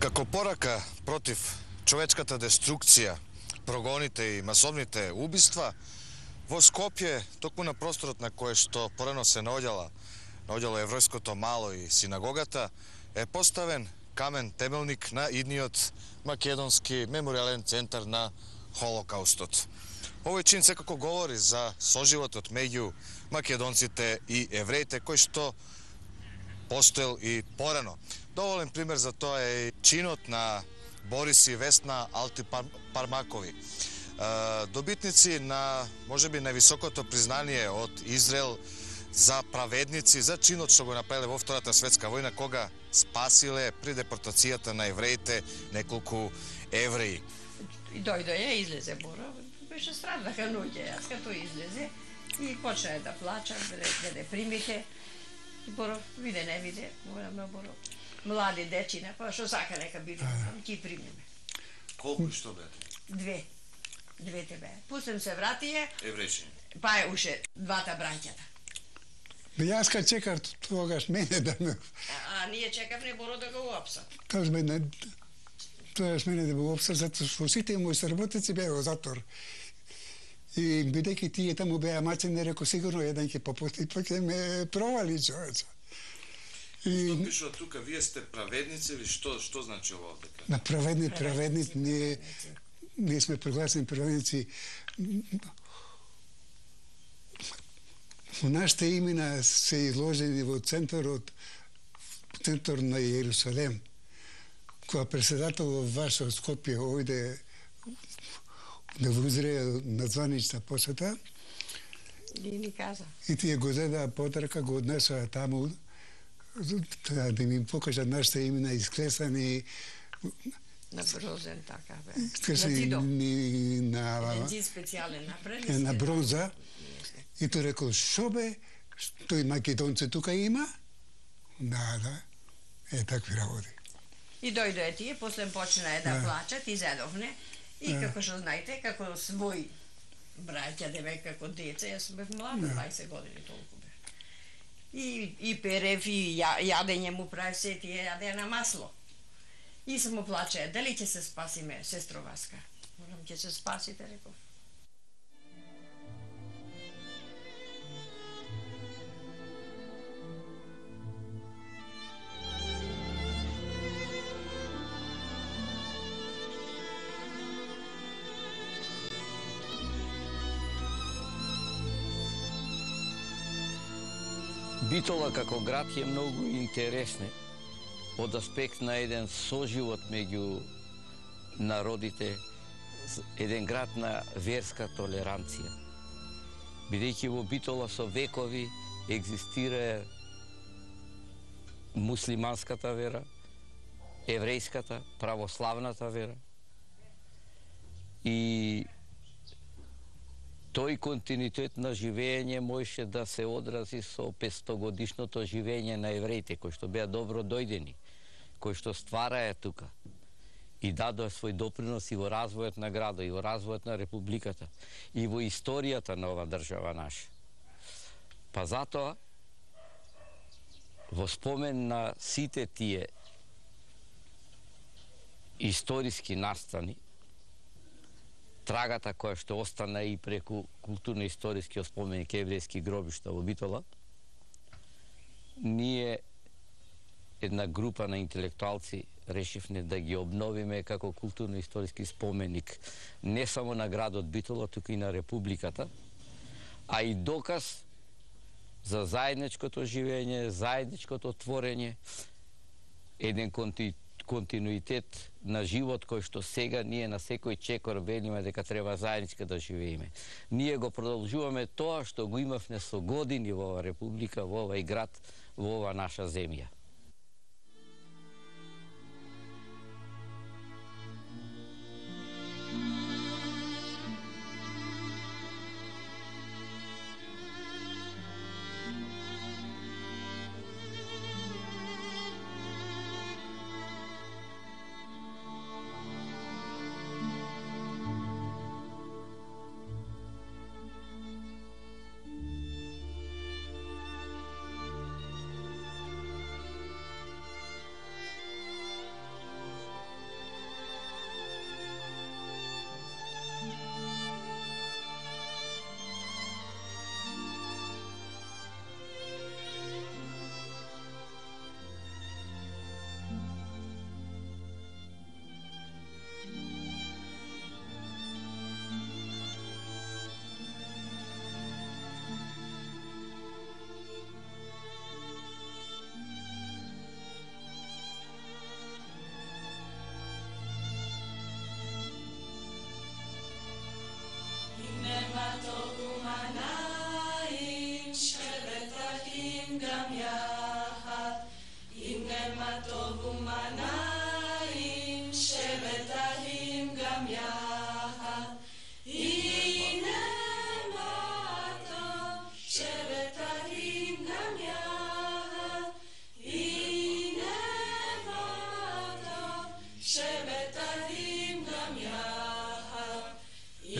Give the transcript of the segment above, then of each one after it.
Како порака против човечката деструкција, прогоните и масовните убиства, во Скопје, токму на просторот на кој што порано се наоѓало евројското мало и синагогата, е поставен камен темелник на идниот македонски меморијален центар на Холокаустот. Овој чин секако говори за соживотот меѓу македонците и евреите, кој што постоел и порано. Доволен пример за тоа е чинот на Борис и Весна Алтипармакови. Добитници на, можеби, највисокото признание од Израел за праведници, за чинот што го направиле во Втората светска војна, кога спасиле при депортацијата на евреите неколку евреи. И дојде излезе Боро, беше страднаха ноќе, јас като излезе и почна да плача, да примите. Боро, виде, не виде, на Боро. Млади дечина, па што сака нека биде, ќе примеме. Колку и што бете? Двете бе. Пустем се вратија. Еврејчини. Па е уше двата браќата. Јас ка чекав тогаш мене да ме... А ние чекавме Боро да го уапсат. Тогаш мене да го уапсат, затоа што сите мои соработници беа во затвор. И бидејќи тие таму беа мачени, рекол сигурно еден ќе попусти, па ќе ме провали човече. Што пишува тука, вие сте праведници или што значи ова дека? На праведници, ние сме прогласени праведници. Нашите имена се изложени во центар на Јерусалем. Кога председател ваш од Скопје ојде да во Израел на званична посета. И ни каза. И тие го зедаа потрака, го однесоа таму, да ми покажат нашите имена исклесани. На брозен, така бе. Исклесани на Еден специјален направи. На бронза. И тој рекол, шо бе, тој македонце тука има? Да, такви работи. И дојде тие, после почна да плачат, изедовне. И како што знаете, како свој браќа, деве како деца, јас бев млада, 20 години толку бе. И перев, и јадење му прави, се тие јаде на масло. И само плаче, дали ќе се спасиме, сестро Васка? Можам, ќе се спасите, реков. Битола како град е многу интересна од аспект на еден соживот меѓу народите, еден град на верска толеранција. Бидејќи во Битола со векови екзистира муслиманската вера, еврејската, православната вера. И тој континуитет на живење можеше да се одрази со 500-годишното живење на евреите, кои што беа добро дојдени, кои што ствараа тука и дадоа свој допринос и во развојот на градот, и во развојот на републиката, и во историјата на ова држава наша. Па затоа, во спомен на сите тие историски настани, трагата која што остана и преку културно-историски споменик еврејски гробишта во Битола, ние една група на интелектуалци решивме да ги обновиме како културно-историски споменик не само на градот Битола, туку и на републиката, а и доказ за заедничкото живење, заедничкото творење, еден континуитет на живот кој што сега ние на секој чекор велиме дека треба заеднички да живееме. Ние го продолжуваме тоа што го имавме со години во ова република, во овај град, во ова наша земја.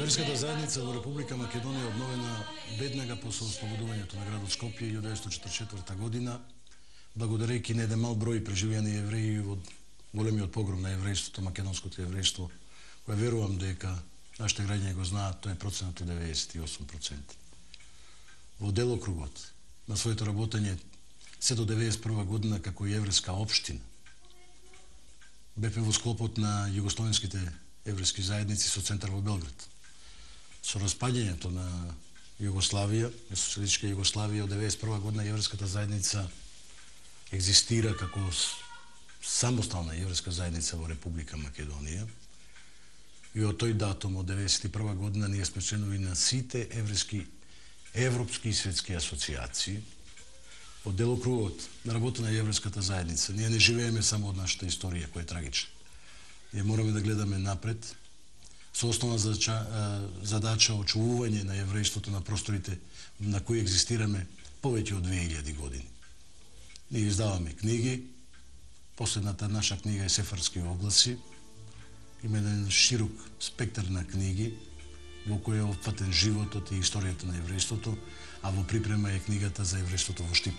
Еврејската заедница во Република Македонија обновена веднага после ослободувањето на градот Скопје 1944 година, благодарејќи на еден мал број преживеани евреи во големиот погром на еврејството, македонското еврејство, кој верувам дека нашите граѓани го знаат, тој е проценат од 98%. Во делокругот на своето работење се до 1991 година како еврејска општина бепе во склопот на југословенските еврејски заедници со центар во Белград. Со распаѓањето на Југославија, социјалистичка Југославија, од 1991 година еврејската заедница екзистира како самостална еврејска заедница во Република Македонија. И од тој датум, од 1991 година, ние сме членови на сите европски и светски асоциации. Од делокругот на работа на еврејската заедница, ние не живееме само од нашата историја, која е трагична. Ние мораме да гледаме напред, со основна задача очувување на еврејството на просторите на кои екзистираме повеќе од 2000 години. Ние издаваме книги, последната наша книга е Сефарски огласи, има еден широк спектар на книги во кој е опфатен животот и историјата на еврејството, а во припрема е книгата за еврејството во Штип.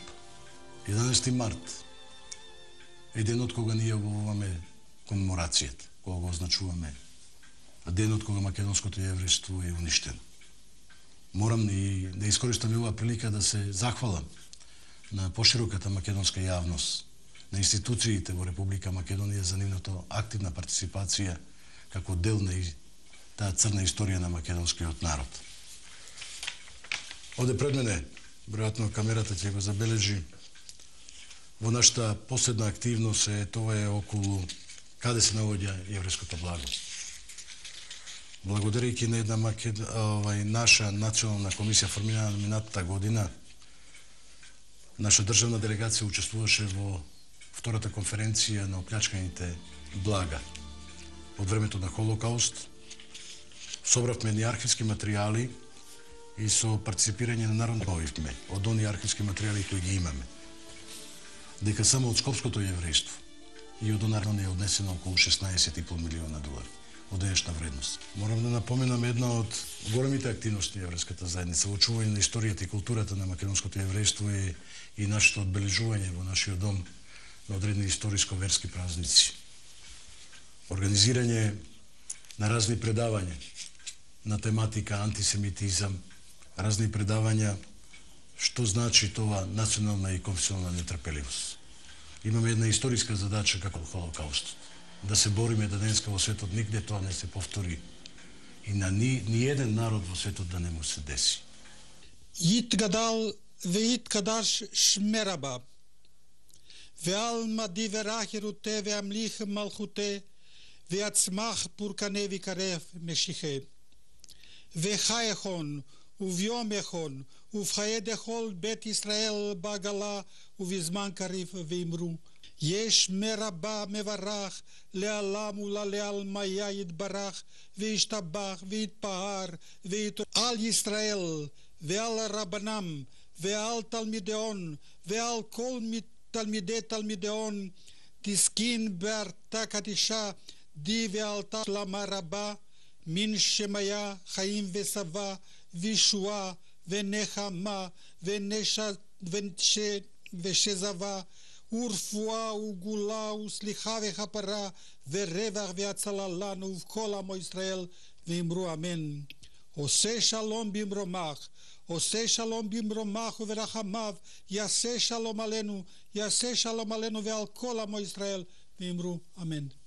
11 март е денот кога ние објавуваме комеморацијата, кога го означуваме денот кога македонското еврејство е уништено. Морам и да искористам оваа прилика да се захвалам на пошироката македонска јавност, на институциите во Република Македонија за нивната активна партиципација како дел на таа црна историја на македонскиот народ. Оде пред мене, веројатно камерата ќе го забележи, во нашата последна активност тоа е околу каде се наоѓа еврејското благо. Благодарејќи на една наша национална комисија формирана минатата година, наша државна делегација учествуваше во втората конференција на оплячканите блага од времето на Холокауст. Собравме ни архивски материјали и со партиципирање на народно објавивме од оние архивски материјали кои ги имаме. Дека само од скопското еврејство и од онарно е однесено околу 16,5 милиона долари од денешна вредност. Морам да напоменам една од големите активности на еврејската заедница во очување на историјата и културата на македонското еврејство е и нашето одбележување во нашиот дом на одредени историско-верски празници. Организирање на разни предавања на тематика антисемитизам, разни предавања што значи тоа национална и конфесионална нетрпеливост. Имаме една историска задача како Холокаустот, да се бориме да денеска во светот нигде тоа не се повтори и на ни еден народ во светот да не му се деси. Ит гадал веит кадаш шмераба. Веал мади верахеру те веамлих малхуте веацмах пурканеви карев мешихе. Вехаехон увјомехон увхаедехол бет Исраел багала увизман кариф веимру. יש מרבה מברך לעלם ולעלמא יתברך וישתבח ויתפאר על ישראל ועל רבנם ועל תלמידיון ועל כל תלמידי תלמידיון תסכין בארתה קדישה די ועלתה שלמה רבה מן שמיה חיים ושבע וישועה ונחמה ושזבה ורפואה וגאולה וסליחה וכפרה ורווח והצלה לנו ובכל עמו ישראל ואמרו אמן. עושה שלום במרומך, עושה שלום במרומך וברחמיו, יעשה שלום עלינו ועל כל עמו ישראל ואמרו אמן.